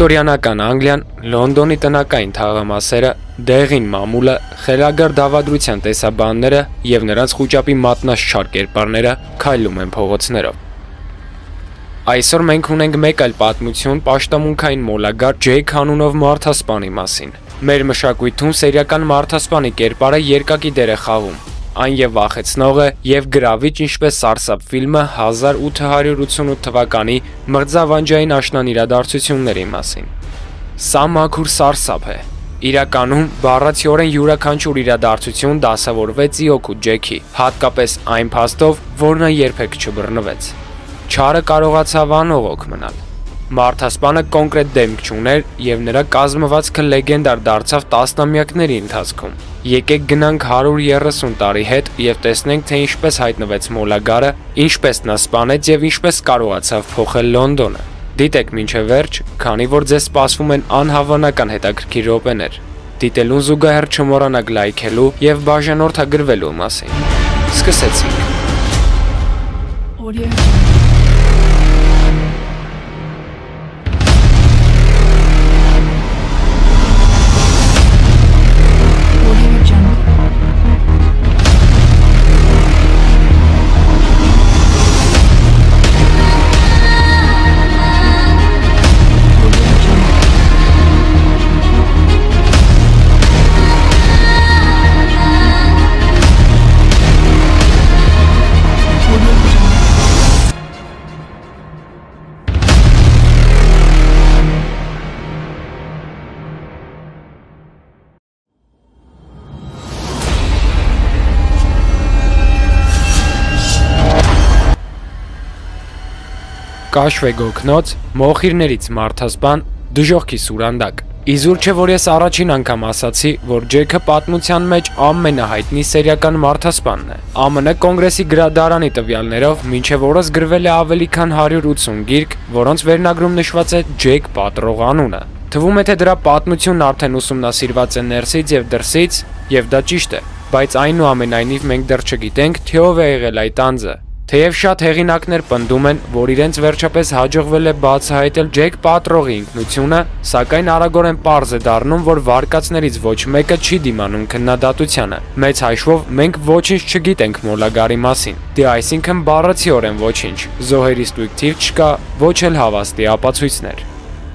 Վիկտորիանական Անգլիան, Լոնդոնի տնական թաղամասերը, դեղին մամուլը, խելագար դավադրության տեսաբանները և նրանց խուճապի մատնաշար կերպարները քայլում են փողոցներով։ Այսօր մենք ունենք մեկ այլ պատմություն պաշտամունքային մոլագար Ջեյք անունով մարդասպանի մասին։ Մեր մշակույթում սերիական մարդասպանի կերպարը երկակի դեր է խաղում։ Այն և վախեցնող է, և գրավիչ, ինչպես Սարսափ ֆիլմը 1888 թվականի մղձավանջային աշնան իրադարձությունների մասին։ Սա մաքուր սարսափ է։ Իրականում բառացիորեն յուրաքանչյուր իրադարձություն դասավորվեց ի օգուտ Ջեքի, հատկապես այն փաստով, որ նա երբեք չբռնվեց։ Չարը կարողացավ անողոք մնալ։ Մարդասպանը կոնկրետ դեմք չուներ, և նրա կազմվածքը լեգենդար դարձավ տասնամյակների ընթացքում։ Եկեք գնանք 130 տարի հետ և տեսնենք, թե ինչպես հայտնվեց մոլագարը, ինչպես նա սպանեց և ինչպես կարողացավ փոխել Լոնդոնը։ Դիտեք մինչև վերջ, քանի որ ձեզ սպասվում են անհավանական հետաքրքիր րոպեներ։ Դիտելուն զուգահեռ չմոռանաք լայքելու և բաժանորդագրվելու մասին։ Սկսեցինք։ Կաշվե գոգնոց, մոխիրներից մարդասպան, դժոխքի սուրանդակ։ Իզուր չէ, որ ես առաջին անգամ ասացի, որ Ջեքը պատմության մեջ ամենահայտնի սերիական մարդասպանն է։ ԱՄՆ կոնգրեսի գրադարանի տվյալներով մինչև օրս գրվել է ավելի քան 180 գիրք, որոնց վերնագրում նշված է Ջեք պատռող անունը։ Թվում է, թե դրա պատմությունն արդեն ուսումնասիրված է ներսից և դրսից, և դա ճիշտ է, բայց այնուամենայնիվ մենք դեռ չգիտենք, թե ով է եղել այդ անձը։ Թեև շատ հեղինակներ պնդում են, որ իրենց վերջապես հաջողվել է բացահայտել Ջեք պատռողի ինքնությունը, սակայն արագորեն պարզ է դառնում, որ վարկածներից ոչ մեկը չի դիմանում քննադատությանը։ Մեծ հաշվով մենք ոչինչ չգիտենք մոլագարի մասին։ Դե այսինքն բառացիորեն ոչինչ, զոհերի ստույգ թիվ չկա, ոչ էլ հավաստի ապացույցներ։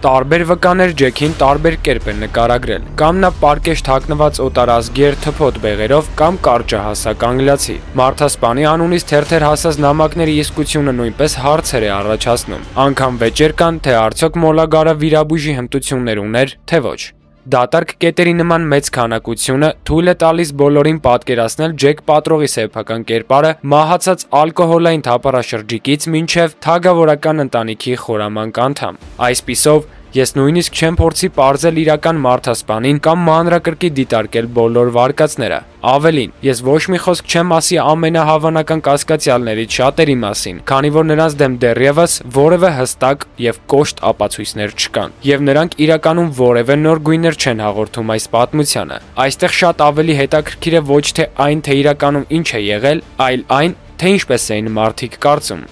Տարբեր վկաներ Ջեքին տարբեր կերպ են նկարագրել, կամ նա պարկեշտ հագնված օտարազգեր թփոթ բեղերով, կամ կարճահասակ անգլիացի։ Մարդասպանի անունից թերթեր հասած նամակների իսկությունը նույնպես հարցեր է առաջացնում։ Անգամ վեճեր կան, թե արդյոք մոլագարը վիրաբույժի հմտություններ ուներ, թե ոչ։ Դատարկ կետերի նման մեծ քանակությունը թույլ է տալիս բոլորին պատկերացնել Ջեք պատռողի սեփական կերպարը մահացած ալկոհոլային թափառաշրջիկից մինչև թագավորական ընտանիքի խորամանկ անդամ։ Այսպիսով, ես նույնիսկ չեմ փորձի պարզել իրական մարդասպանին կամ մանրակրկիտ դիտարկել բոլոր վարկածները։ Ավելին, ես ոչ մի խոսք չեմ ասի ամենահավանական կասկածյալներից շատերի մասին, քանի որ նրանց դեմ դեռևս որևէ հստակ և կոշտ ապացույցներ չկան, և նրանք իրականում որևէ նոր գույներ չեն հաղորդում այս պատմությանը։ Այստեղ շատ ավելի հետաքրքիր է ոչ թե այն, թե իրականում ինչ է եղել, այլ այն, թե ինչպես էին մարդիկ կարծում։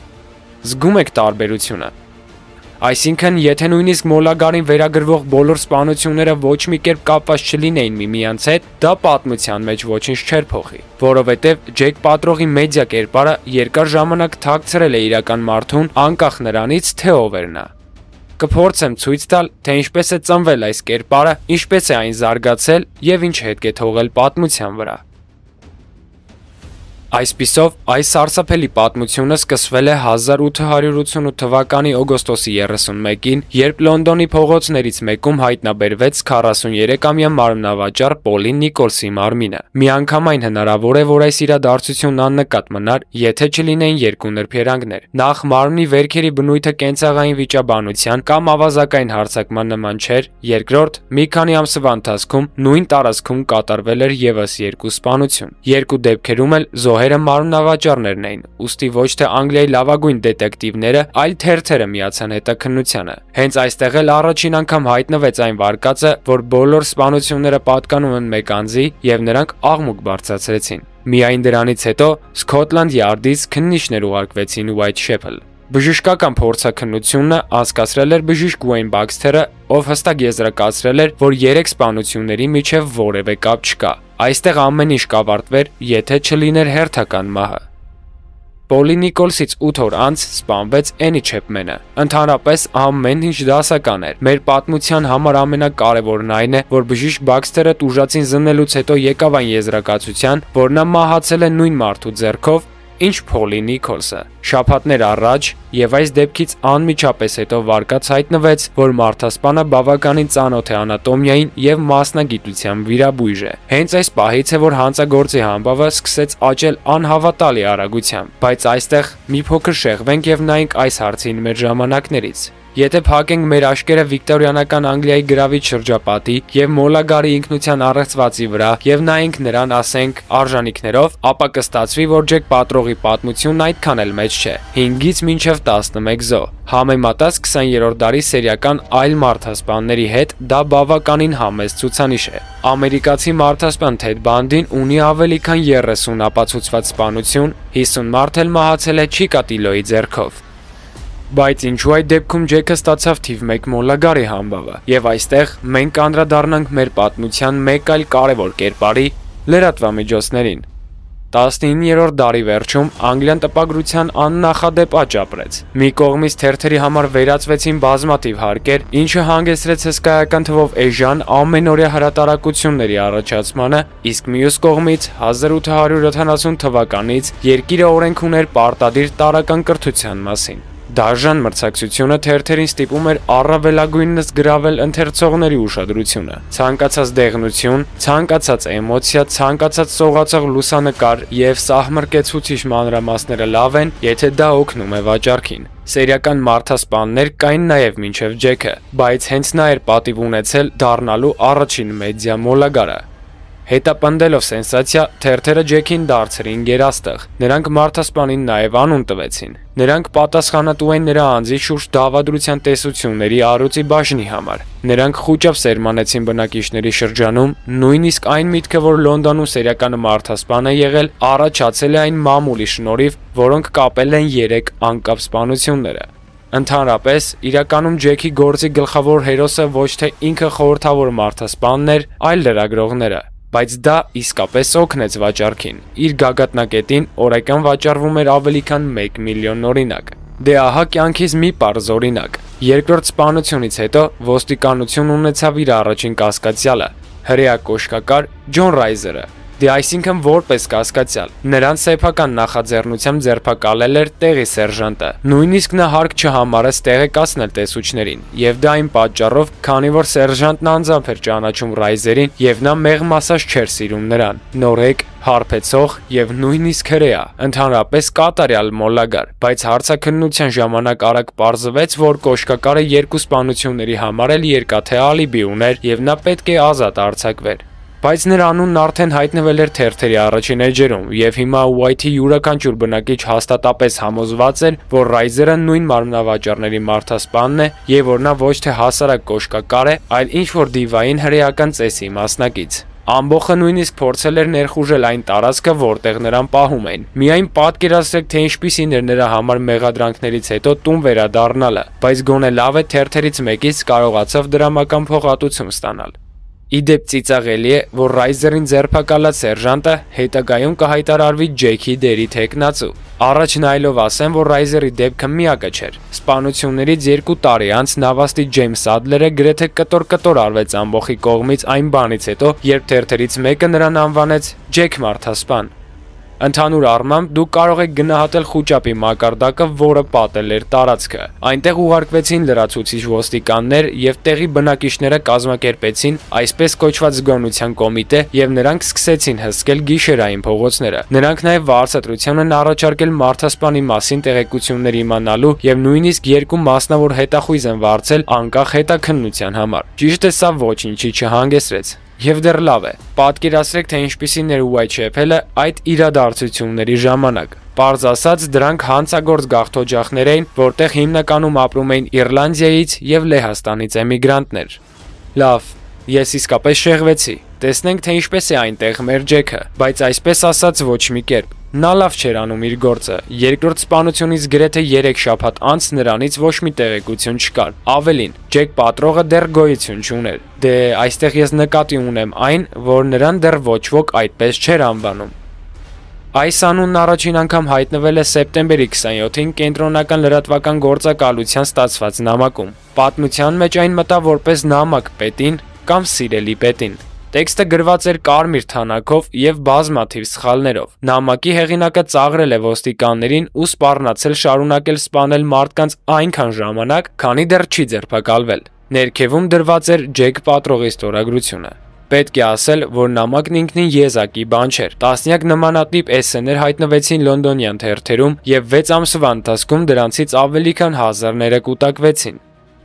Զգում եք տարբերությունը։ Այսինքն, եթե նույնիսկ մոլագարին վերագրվող բոլոր սպանությունները ոչ մի կերպ կապված չլինեին միմյանց հետ, դա պատմության մեջ ոչինչ չէր փոխի, որովհետև Ջեք պատռողի մեդիա կերպարը երկար ժամանակ թաքցրել է իրական մարդուն, անկախ նրանից, թե ով էր նա։ Կփորձեմ ցույց տալ, թե ինչպես է ծնվել այս կերպարը, ինչպես է այն զարգացել և ինչ հետք է թողել պատմության վրա։ Այսպիսով, այս սարսափելի պատմությունը սկսվել է 1888 թվականի օգոստոսի 31-ին, երբ Լոնդոնի փողոցներից մեկում հայտնաբերվեց 43-ամյա մարմնավաճառ Պոլին Նիկոլսի մարմինը։ Միանգամայն հնարավոր է, որ այս իրադարձությունն աննկատ մնար, եթե չլինեին երկու նրբերանգներ։ Նախ, մարմնի վերքերի բնույթը կենցաղային վիճաբանության կամ ավազակային հարձակման նման չէր, երկրորդ, մի քանի ամսվա ընթացքում նույն տարածքում կատարվել էր ևս երկու սպանություն։ Երկու դեպքերում էլ զոհերը մարմնավաճառներն էին, ուստի ոչ թե Անգլիայի լավագույն դետեկտիվները, այլ թերթերը միացան հետաքննությանը։ Հենց այստեղ էլ առաջին անգամ հայտնվեց այն վարկածը, որ բոլոր սպանությունները պատկանում են մեկ անձի, և նրանք աղմուկ բարձրացրեցին։ Միայն դրանից հետո Սքոթլանդ Յարդից քննիչներ ուղարկվեցին Ուայթշեփլ։ Բժշկական փորձաքննությունը անցկացրել էր բժիշկ Ուեյն Բաքսթերը, ով հստակ եզրակացրել էր, որ 3 սպանությունների միջև որևէ կապ չկա։ Այստեղ ամեն ինչ կավարտվեր, եթե չլիներ հերթական մահը։ Պոլի Նիկոլսից 8 օր անց սպանվեց Էնի Չեփմենը։ Ընդհանրապես ամեն ինչ դասական էր։ Մեր պատմության համար ամենակարևորն այն է, որ բժիշկ Բաքսթերը տուժածին զննելուց հետո եկավ այն եզրակացության, որ նա մահացել է նույն մարդու ձեռքով, ինչ Պոլի Նիկոլսը։ Շաբաթներ առաջ եւ այս դեպքից անմիջապես հետո վարկած հայտնվեց, որ մարդասպանը բավականին ծանոթ է անատոմիային եւ մասնագիտությամբ վիրաբույժ է։ Հենց այս պահից է, որ հանցագործի համբավը սկսեց աճել անհավատալի արագությամբ, բայց այստեղ մի փոքր շեղվենք եւ նայենք այս հարցին մեր ժամանակներից։ Եթե փակենք մեր աչքերը վիկտորիանական Անգլիայի գրավիչ շրջապատի եւ Մոլագարի ինքնության առեղծվածի վրա եւ նայենք նրան, ասենք, արժանինքներով, ապա կստացվի, որ Ջեք Պատրողի պատմությունն այդքան էլ մեծ չէ։ 5-ից մինչև 11 զո։ Համեմատած 20-րդ դարի սերիական այլ մարդասպանների հետ դա բավականին համեստ ցուցանիշ է։ Ամերիկացի մարդասպան Թեդ Բանդին ունի ավելի քան 30 ապացուցված սպանություն, 50 մարդ էլ մահացել է Չիկատիլոյի ձեռքով։ Բայց ինչու այդ դեպքում Ջեքը ստացավ թիվ 1 Մոլագարի համբավը։ Եվ այստեղ մենք կանդրադառնանք մեր պատմության մեկ այլ կարևոր կերպարի՝ լրատվամիջոցներին։ 19-րդ դարի վերջում Անգլիան տպագրության աննախադեպ աճ ապրեց։ Մի կողմից թերթերի համար վերածվեցին բազմաթիվ հարկեր, ինչը հանգեցրեց հսկայական թվով էժան ամենօրյա հրատարակությունների առաջացմանը, իսկ մյուս կողմից 1870 թվականից երկիրը օրենք ուներ պարտադիր տարրական կրթության մասին։ Դաժան մրցակցությունը թերթերին ստիպում էր առավելագույնս գրավել ընթերցողների ուշադրությունը։ Ցանկացած դեղնություն, ցանկացած էմոցիա, ցանկացած սողացող լուսանկար եւ սահմռկեցուցիչ մանրամասները լավ են, եթե դա օգնում է վաճառքին։ Սերիական մարդասպաններ կային նաև մինչև Ջեքը, բայց հենց նա էր պատիվ ունեցել դառնալու առաջին մեդիա Մոլագարը։ Հետապնդելով սենսացիա, թերթերը Ջեքին դարձրին գերաստղ։ Նրանք մարդասպանին նաև անուն տվեցին։ Նրանք պատասխանատու են նրա անձի շուրջ դավադրության տեսությունների առյուծի բաժնի համար։ Նրանք խուճապ սերմանեցին բնակիչների շրջանում, նույնիսկ այն միտքը, որ Լոնդոնում սերիական մարդասպան է եղել, առաջացել է այն մամուլի շնորհիվ, որոնք կապել են 3 անկապ սպանությունները։ Ընդհանրապես, իրականում Ջեքի գործի գլխավոր հերոսը ոչ թե ինքը խորհրդավոր մարդասպանն էր, այլ լրագրողները։ Բայց դա իսկապես օգնեց վաճառքին։ Իր գագաթնակետին օրական վաճառվում էր ավելի քան 1 միլիոն օրինակ։ Դե ահա կյանքից մի պարզ օրինակ։ Երկրորդ սպանությունից հետո ոստիկանություն ունեցավ իր առաջին կասկածյալը՝ հրեա կոշկակար Ջոն Ռայզերը։ Դե այսինքն որպես կասկածյալ։ Նրան սեփական նախաձեռնությամբ ձերբակալել էր տեղի սերժանտը։ Նույնիսկ նա հարկ չհամարեց տեղեկացնել տեսուչներին, եւ դա այն պատճառով, քանի որ սերժանտն անձամբ էր ճանաչում Ռայզերին եւ նա մեղմասած չէր սիրում նրան։ Նորեկ, հարբեցող եւ նույնիսկ հրեա, ընդհանրապես կատարյալ Մոլագար, բայց հարցաքննության ժամանակ արագ պարզվեց, որ կոշկակարը 2 սպանությունների համար էլ երկաթե ալիբի ուներ եւ նա պետք է ազատ արձակվեր։ Բայց նրա անունն արդեն հայտնվել էր թերթերի առաջին էջերում, եւ հիմա Ուայթի յուրաքանչյուր բնակիչ հաստատապես համոզված էր, որ Ռայզերը նույն մարմնավաճառների մարդասպանն է եւ որ նա ոչ թե հասարակ կոշկակար է, այլ ինչ-որ դիվային հրեական ծեսի մասնակից։ Ամբողջը նույնիսկ փորձել էր ներխուժել այն տարածքը, որտեղ նրան պահում էին։ Միայն պատկերացրեք, թե ինչպիսին էր նրա համար մեղադրանքներից հետո տուն վերադառնալը, բայց գոնե լավ է թերթերից մեկից կարողացավ դրամական փոխհատուցում ստանալ։ Իդեպ ծիծաղելի է, որ Ռայզերին ձերբակալած սերժանտը հետագայում կհայտարարվի Ջեքի դերի թեկնածու։ Առաջ նայելով ասեմ, որ Ռայզերի դեպքը միակը չէր։ Սպանություններից 2 տարի անց նավաստի Ջեյմս Ադլերը գրեթե կտոր արվեց ամբողջի կողմից այն բանից հետո, երբ թերթերից մեկը նրան անվանեց Ջեք մարդասպան։ Ընդհանուր առմամբ դուք կարող եք գնահատել խուճապի մակարդակը, որը պատել էր տարածքը։ Այնտեղ ուղարկվեցին լրացուցիչ ոստիկաններ եւ տեղի բնակիչները կազմակերպեցին այսպես կոչված զգոնության կոմիտե եւ նրանք սկսեցին հսկել գիշերային փողոցները։ Նրանք նաեւ վարձատրություն են առաջարկել մարդասպանի մասին տեղեկություններ իմանալու եւ նույնիսկ 2 մասնավոր հետախույզ են վարձել անկախ հետաքննության համար։ Ճիշտ է, սա ոչինչի չհանգեցրեց։ Եվ դեռ լավ է, պատկերացրեք, թե ինչպիսին էր Ուայթ Չեփելը այդ իրադարձությունների ժամանակ։ Պարզ ասած, դրանք հանցագործ գաղթօջախներ էին, որտեղ հիմնականում ապրում էին Իռլանդիայից եւ Լեհաստանից էմիգրանտներ։ Լավ, ես իսկապես շեղվեցի։ տեսնենք, թե ինչպես է այնտեղ մեր Ջեքը, բայց այսպես ասած ոչ մի կերպ։ Նա լավ չէր անում իր գործը։ Երկրորդ սպանությունից գրեթե 3 շաբաթ անց նրանից ոչ մի տեղեկություն չկար։ Ավելին, Ջեք պատրողը դեռ գոյություն չուներ։ Դե այստեղ ես նկատի ունեմ այն, որ նրան դեռ ոչ ոք այդպես չէր անվանում։ Այս անունն առաջին անգամ հայտնվել է սեպտեմբերի 27-ին կենտրոնական լրատվական գործակալության ստացված նամակում։ Պատմության մեջ այն մտավ որպես նամակ պետին կամ սիրելի պետին։ Տեքստը գրված էր կարմիր թանաքով եւ բազմաթիվ սխալներով։ Նամակի հեղինակը ծաղրել է ոստիկաններին ու սպառնացել շարունակել սպանել մարդկանց այնքան ժամանակ, քանի դեռ չի ձերբակալվել։ Ներքևում դրված էր Ջեք պատրողի ստորագրությունը։ Պետք է ասել, որ նամակն ինքնին եզակի բան չէր։ Տասնյակ նմանատիպ էսսեներ հայտնվեցին լոնդոնյան թերթերում եւ 6 ամսվա ընթացքում դրանցից ավելի քան 1000-ները կուտակվեցին։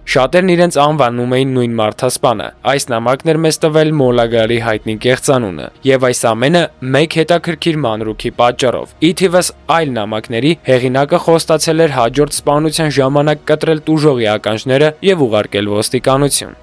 Շատերն իրենց անվանում էին նույն մարդասպանը։ Այս նամակն էր մեզ տվել Մոլագարի հայտնի կեղծանունը, եւ այս ամենը մեկ հետաքրքիր մանրուքի պատճառով։ Ի թիվս այլ նամակների հեղինակը խոստացել էր հաջորդ սպանության ժամանակ կտրել տուժողի ականջները եւ ուղարկել ոստիկանություն։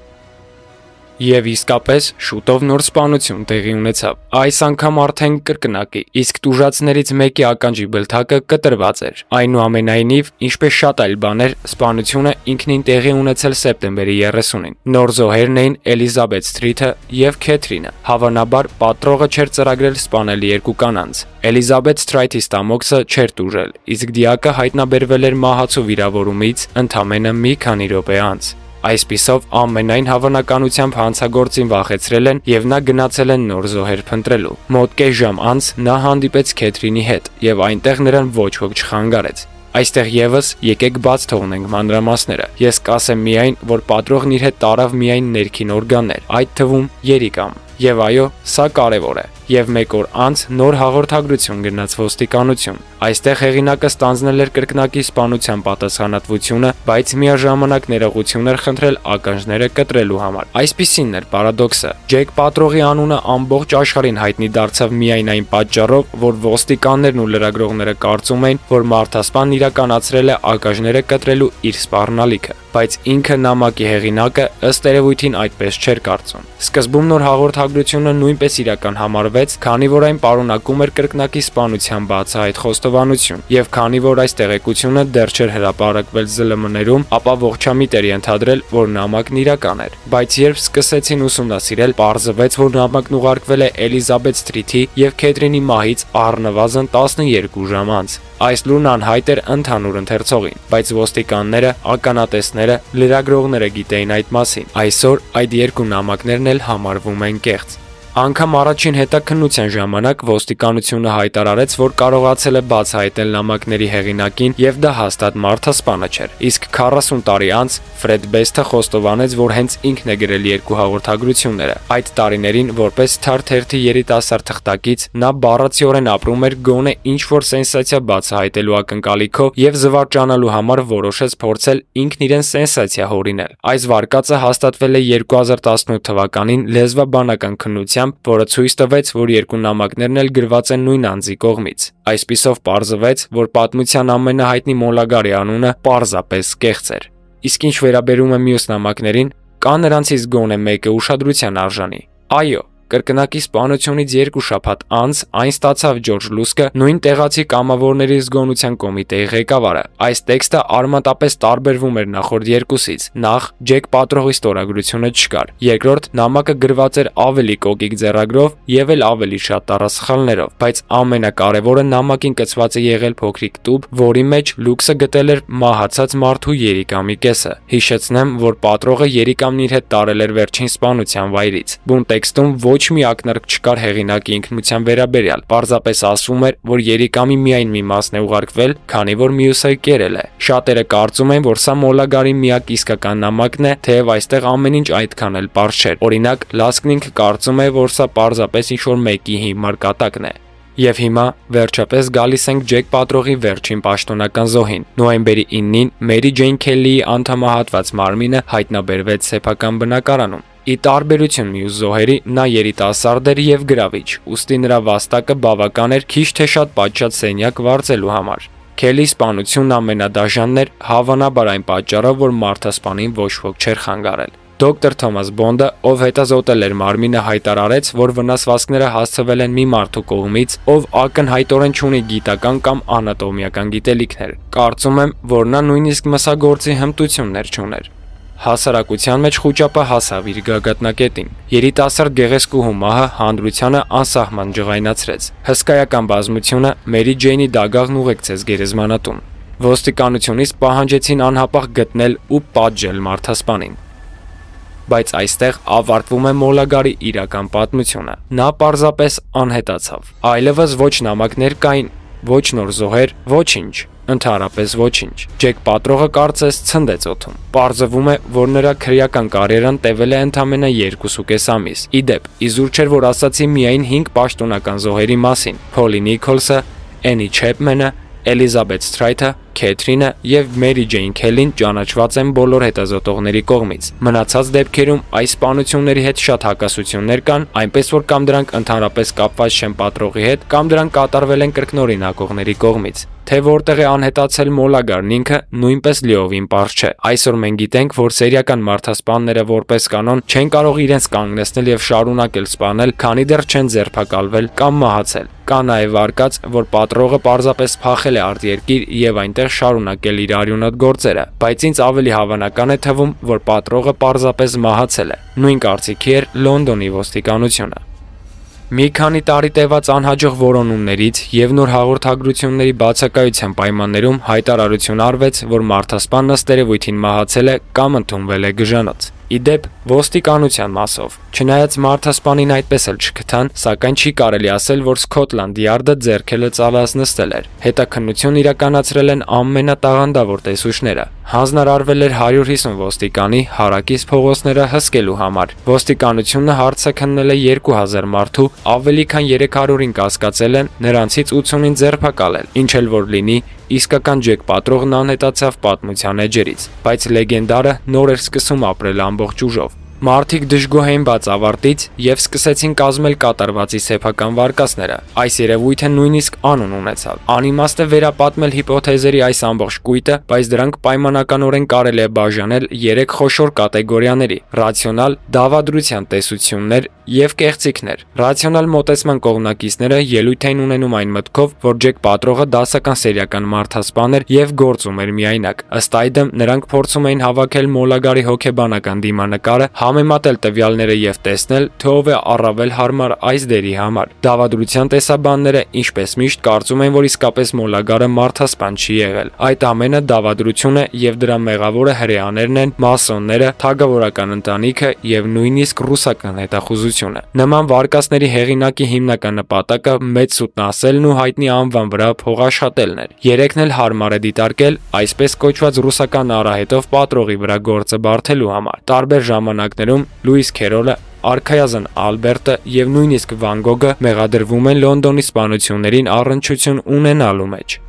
Եվ իսկապես շուտով նոր սպանություն տեղի ունեցավ։ Այս անգամ արդեն կրկնակի, իսկ տուժածներից մեկի ականջի բլթակը կտրված էր։ Այնուամենայնիվ, ինչպես շատ այլ բաներ, սպանությունը ինքնին տեղի ունեցել սեպտեմբերի 30-ին։ Նոր զոհերն էին Էլիզաբեթ Սթրիթը եւ Քեթրինը։ Հավանաբար պատրողը չէր ծրագրել սպանել երկու կանանց։ Էլիզաբեթ Սթրայթի ստամոքսը չէր տուժել, իսկ դիակը հայտնաբերվել էր մահացու վիրավորումից ընդամենը մի քանի րոպե անց։ Այսպիսով ամենայն հավանականությամբ հանցագործին վախեցրել են եւ նա գնացել են նոր զոհեր փնտրելու։ Մոտ կես ժամ անց նա հանդիպեց Քեթրինի հետ եւ այնտեղ նրան ոչ ոք չխանգարեց։ Այստեղ եւս եկեք բաց թողնենք մանրամասները։ Ես կասեմ միայն, որ պատրողն իր հետ տարավ միայն ներքին օրգաններ, այդ թվում երիկամ։ Եվ այո, սա կարևոր է։ Եվ մեկ օր անց նոր հաղորդագրություն գնաց ոստիկանություն։ Այստեղ հեղինակը ստանձնել էր կրկնակի սպանության պատասխանատվությունը, բայց միաժամանակ ներողություն էր խնդրել ականջները կտրելու համար։ Այսպիսին էր պարադոքսը։ Ջեք պատրողի անունը ամբողջ աշխարհին հայտնի դարձավ միայն այն պատճառով, որ ոստիկաններն ու լրագրողները կարծում էին, որ մարդասպանն իրականացրել է ականջները կտրելու իր սպառնալիքը, բայց ինքը նամակի հեղինակը ըստ երևույթին այդպես չէր կարծում։ Սկզբում նոր հաղորդագրությունը նույնպես իրական համարվեց, քանի որ այն պարունակում էր կրկնակի սպանության բացահայտ խոստովանություն, եւ քանի որ այս տեղեկությունը դեռ չէր հրապարակվել ԶԼՄ-ներում, ապա ողջամիտ էր ենթադրել, որ նամակն իրական էր։ Բայց երբ սկսեցին ուսումնասիրել, պարզվեց, որ նամակն ուղարկվել է Էլիզաբեթ Սթրիթի եւ Քեթրինի մահից առնվազն 12 ժամ անց։ Այս լուրն անհայտ էր ընդհանուր ընթերցողին, բայց ոստիկանները, ականատեսները, լրագրողները գիտեին այդ մասին։ Այսօր այդ երկու նամակներն էլ համարվում են կեղծ։ Անգամ առաջին հետաքննության ժամանակ ոստիկանությունը հայտարարեց, որ կարողացել է բացահայտել նամակների հեղինակին եւ դա հաստատ մարդասպանը չէր։ Իսկ 40 տարի անց Ֆրեդ Բեսթը խոստովանեց, որ հենց ինքն է գրել երկու հաղորդագրությունները։ Այդ տարիներին որպես թերթի երիտասարդ թղթակից նա բառացիորեն ապրում էր գոնե ինչ-որ սենսացիա բացահայտելու ակնկալիքով եւ զվարճանալու համար որոշեց փորձել ինքն իրեն սենսացիա հորինել։ Այս վարկածը հաստատվել է 2018 թվականին լեզվաբանական քննությամբ, որը ցույց տվեց, որ երկու նամակներն էլ գրված են նույն անձի կողմից։ Այսպիսով պարզվեց, որ պատմության ամենահայտնի Մոլագարի անունը պարզապես կեղծ էր։ Իսկ ինչ վերաբերում է մյուս նամակներին, կա նրանցից գոնե մեկը ուշադրության արժանի։ Այո, կրկնակի սպանությունից 2 շաբաթ անց այն ստացավ Ջորջ Լուսկը, նույն տեղացի կամավորների զգոնության կոմիտեի ղեկավարը։ Այս տեքստը արմատապես տարբերվում էր նախորդ երկուսից։ Նախ Ջեք պատրողի ստորագրությունը չկար։ Երկրորդ նամակը գրված էր ավելի կոկիկ ձեռագրով եւ էլ ավելի շատ տառասխալներով, բայց ամենակարևորը նամակին կցված է եղել փոքրիկ տուփ, որի մեջ Լուքսը գտել էր մահացած մարդու երիկամի կեսը։ Հիշեցնեմ, որ պատրողը երիկամն իր հետ տարել էր վերջին սպանության վայրից։ Բուն տեքստում ոչ մի ակնարկ չկար հեղինակի ինքնության վերաբերյալ։ Պարզապես ասվում էր, որ երիկամի միայն մի մասն է ուղարկվել, քանի որ մյուսը կերել է։ Շատերը կարծում են, որ սա Մոլագարի միակ իսկական նամակն է, թեև այստեղ ամեն ինչ այդքան էլ պարզ չէր։ Օրինակ, Լասկն ինքը կարծում է, որ սա պարզապես ինչ-որ մեկի հիմար կատակն է։ Եվ հիմա վերջապես գալիս ենք Ջեք պատրողի վերջին պաշտոնական զոհին։ Նոյեմբերի 9-ին Մերի Ջեյն Քելլիի անդամահատված մարմինը հայտնաբերվեց սեփական բնակարանում։ Ի տարբերություն մյուս զոհերի, նա երիտասարդ էր եւ գրավիչ, ուստի նրա վաստակը բավական էր քիչ թե շատ պատշաճ սենյակ վարձելու համար։ Քելի սպանությունն ամենադաժանն էր, հավանաբար այն պատճառով, որ մարդասպանին ոչ ոք չէր խանգարել։ Դոկտոր Թոմաս Բոնդը, ով հետազոտել էր մարմինը, հայտարարեց, որ վնասվածքները հասցվել են մի մարդու կողմից, ով ակնհայտորեն չունի գիտական կամ անատոմիական գիտելիքներ։ Կարծում եմ, որ նա նույնիսկ մսագործի հմտություններ չուներ։ Հասարակության մեջ խուճապը հասավ իր գագաթնակետին։ Երիտասարդ գեղեցկուհու մահը հանրությանը անսահման ջղայնացրեց։ Հսկայական բազմությունը Մերի Ջեյնի դագաղն ուղեկցեց գերեզմանատուն։ Ոստիկանությունից պահանջեցին անհապաղ գտնել ու պատժել մարդասպանին։ Բայց այստեղ ավարտվում է Մոլագարի իրական պատմությունը։ Նա պարզապես անհետացավ։ Այլևս ոչ նամակներ կային, ոչ նոր զոհեր, ոչինչ, ընդհանրապես ոչինչ։ Ջեք Պատրողը կարծես ցնդեց օդում։ Պարզվում է, որ նրա քրեական կարիերան տևել է ընդամենը 2.5 ամիս։ Իդեպ, իզուր չէր, որ ասացի միայն 5 պաշտոնական զոհերի մասին՝ Փոլի Նիքոլսը, Էնի Չեփմենը, Էլիզաբեթ Սթրայթը, Քեթրինը եւ Մերի Ջեյն Քելին ճանաչված են բոլոր հետազոտողների կողմից։ Մնացած դեպքերում այս սպանությունների հետ շատ հակասություններ կան, այնպես որ կամ դրանք ընդհանրապես կապված չեն պատրողի հետ, կամ դրանք կատարվել են կրկնօրինակողների կողմից։ Թե որտեղ է անհետացել Մոլագարն ինքը, նույնպես լիովին պարզ չէ։ Այսօր մենք գիտենք, որ սերիական մարդասպանները որպես կանոն չեն կարող իրենց կանգնեցնել եւ շարունակել սպանել, քանի դեռ չեն ձերբակալվել կամ մահացել։ Կա նաև արկած, որ պատրողը պարզապես փախել է արտերկիր եւ այնտեղ շարունակել իր արյունոտ գործերը, բայց ինձ ավելի հավանական է թվում, որ պատրողը պարզապես մահացել է։ Նույն կարծիքի էր Լոնդոնի ոստիկանությունը։ Մի քանի տարի տևած անհաջող որոնումներից եւ նոր հաղորդագրությունների բացակայության պայմաններում հայտարարություն արվեց, որ մարդասպանն ըստ երևույթին մահացել է կամ ընդունվել է գժանոց։ Իդեպ, ոստիկանության մասով, չնայած մարդասպանին այդպես էլ չգտան, սակայն չի կարելի ասել, որ Սքոթլանդ Յարդը ձեռքելը ծալած նստել էր։ Հետաքննություն իրականացրել են ամենատաղանդավոր տեսուչները։ Հանձնարարվել էր 150 ոստիկանի հարակից փողոցները հսկելու համար։ Ոստիկանությունը հարցը քննել է 2000 մարդու, ավելի քան 300-ին կասկածել են, նրանցից 80-ին ձերբակալել, ինչ էլ որ լինի, իսկական Ջեք Պատրողն անհետացավ պատմության էջերից, բայց լեգենդարը նոր էր սկսում ապրել ամբողջ ուժով։ Մարդիկ դժգոհ էին բաց ավարտից եւ սկսեցին կազմել կատարվածի սեփական վարկածները։ Այս երևույթը նույնիսկ անուն ունեցավ։ Անիմաստ է վերապատմել հիպոթեզերի այս ամբողջ կույտը, բայց դրանք պայմանականորեն կարելի է բաժանել 3 խոշոր կատեգորիաների՝ ռացիոնալ, դավադրության տեսություններ եւ կեղծիքներ։ Ռացիոնալ մոտեցման կողմնակիցները ելույթ էին ունենում այն մտքով, որ Ջեք Պատրողը դասական սերիական մարդասպան էր եւ գործում էր միայնակ։ Ըստ այդմ, նրանք փորձում էին հավաքել Մոլագարի հոգեբանական դիմանկարը, համեմատել տվյալները եւ տեսնել, թե ով է առավել հարմար այս դերի համար։ Դավադրության տեսաբանները, ինչպես միշտ, կարծում են, որ իսկապես Մոլագարը մարդասպան չի եղել։ Այդ ամենը դավադրություն է եւ դրա մեղավորը հրեաներն են, մասոնները, թագավորական ընտանիքը եւ նույնիսկ ռուսական հետախուզությունը։ Նման վարկածների հեղինակի հիմնական նպատակը մեծ սուտն ասելն ու հայտնի անվան վրա փողաշխատելն էր։ Երեքն էլ հարմար է դիտարկել այսպես կոչված ռուսական արահետով Պատրողի վրա գործը բարթելու համար։ Տարբեր ժամանակներում Լուիս Քերոլը, Արքայազն Ալբերտը եւ նույնիսկ Վան Գոգը մեղադրվում են Լոնդոնի սպանություններին առնչություն ունենալու մեջ։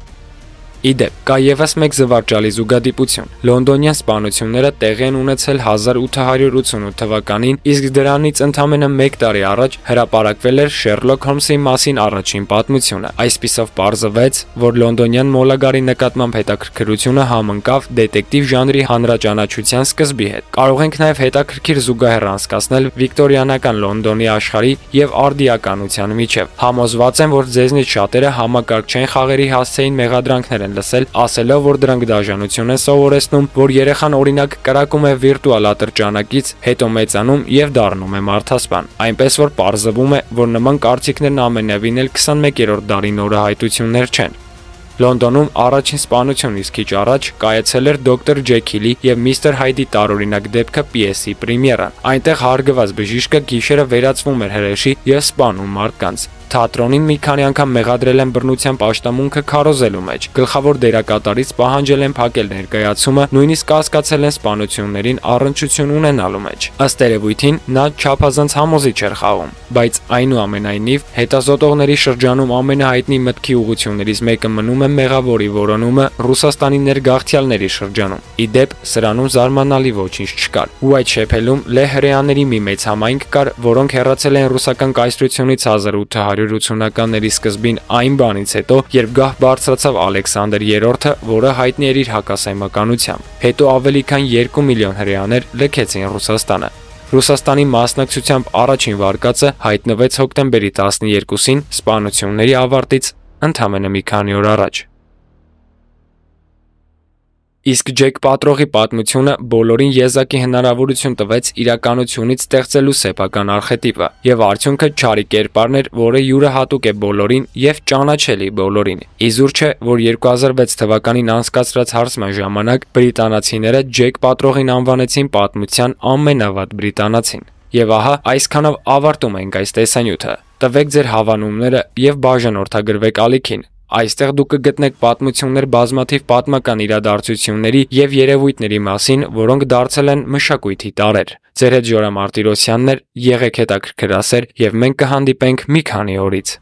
Իդեպ, կա եւս մեկ զվարճալի զուգադիպություն։ Լոնդոնյան սպանությունները տեղի են ունեցել 1888 թվականին, իսկ դրանից ընդամենը 1 տարի առաջ հրապարակվել էր Շերլոկ Հոլմսի մասին առաջին պատմությունը։ Այսպիսով պարզվեց, որ լոնդոնյան Մոլագարի նկատմամբ հետաքրքրությունը համընկավ դետեկտիվ ժանրի հանրաճանաչության սկզբի հետ։ Կարող ենք նաեւ հետաքրքիր զուգահեռ անցկացնել վիկտորիանական Լոնդոնի աշխարհի եւ արդիականության միջև։ Համոզված եմ, որ ձեզնից շատերը համակարգչային խաղերի հասցեին մեղադրանքներ լսել, ասելով, որ դրանք դաժանություն են սովորեցնում, որ երեխան օրինակ կրակում է վիրտուալ ատրճանակից, հետո մեծանում եւ դառնում է մարդասպան։ Այնպես որ պարզվում է, որ նման կարծիքներն ամենևին էլ 21-րդ դարի նորահայտություններ չեն։ Լոնդոնում առաջին սպանությունից քիչ առաջ կայացել էր Դոկտոր Ջեքիլի եւ Միստր Հայդի տարօրինակ դեպքը պիեսի պրեմիերան։ Այնտեղ հարգված բժիշկը գիշերը վերածվում էր հրեշի եւ սպանում մարդկանց։ Թատրոնին մի քանի անգամ մեղադրել են բռնության պաշտամունքը քարոզելու մեջ։ Գլխավոր դերակատարից պահանջել են փակել ներկայացումը, նույնիսկ կասկածել են սպանություններին առնչություն ունենալու մեջ։ Ըստ երևույթին նա չափազանց համոզիչ էր խաղում, բայց այնուամենայնիվ հետազոտողների շրջանում ամենահայտնի մտքի ուղղություններից մեկը մնում է մեղավորի որոնումը Ռուսաստանի ներգաղթյալների շրջանում։ Իդեպ, սրանում զարմանալի ոչինչ չկար։ Ու այդ շեփելում լեհրեաների մի մեծ համայնք կար, որոնք հեռացել են ռուսական կայսրությունից 1800 1980-ականների սկզբին այն բանից հետո, երբ գահ բարձրացավ Ալեքսանդր III-ը, որը հայտնի էր իր հակասայմականությամբ։ Հետո ավելի քան 2 միլիոն հրեաներ լքեցին Ռուսաստանը։ Ռուսաստանի մասնակցությամբ առաջին վարկածը հայտնվեց հոկտեմբերի 12-ին սպանությունների ավարտից ընդամենը մի քանի օր առաջ։ Իսկ Ջեք Պատրողի պատմությունը բոլորին եզակի հնարավորություն տվեց իրականությունից ստեղծելու սեփական արխետիպը, եւ արդյունքը չարի կերպարն էր, որը յուրահատուկ է բոլորին եւ ճանաչելի բոլորին։ Իզուր չէ, որ 2006 թվականին անցկացրած հարցման ժամանակ բրիտանացիները Ջեք Պատրողին անվանեցին պատմության ամենավատ բրիտանացին։ Եվ ահա այսքանով ավարտում ենք այս տեսանյութը։ Տվեք ձեր հավանումները եւ բաժանորդագրվեք ալիքին։ Այստեղ դուք կգտնեք պատմություններ բազմաթիվ պատմական իրադարձությունների եւ երևույթների մասին, որոնք դարձել են մշակույթի տարրեր։ Ձեր հետ Ժորա Մարտիրոսյանն էր, եղեք հետաքրքրասեր եւ մենք կհանդիպենք մի քանի օրից։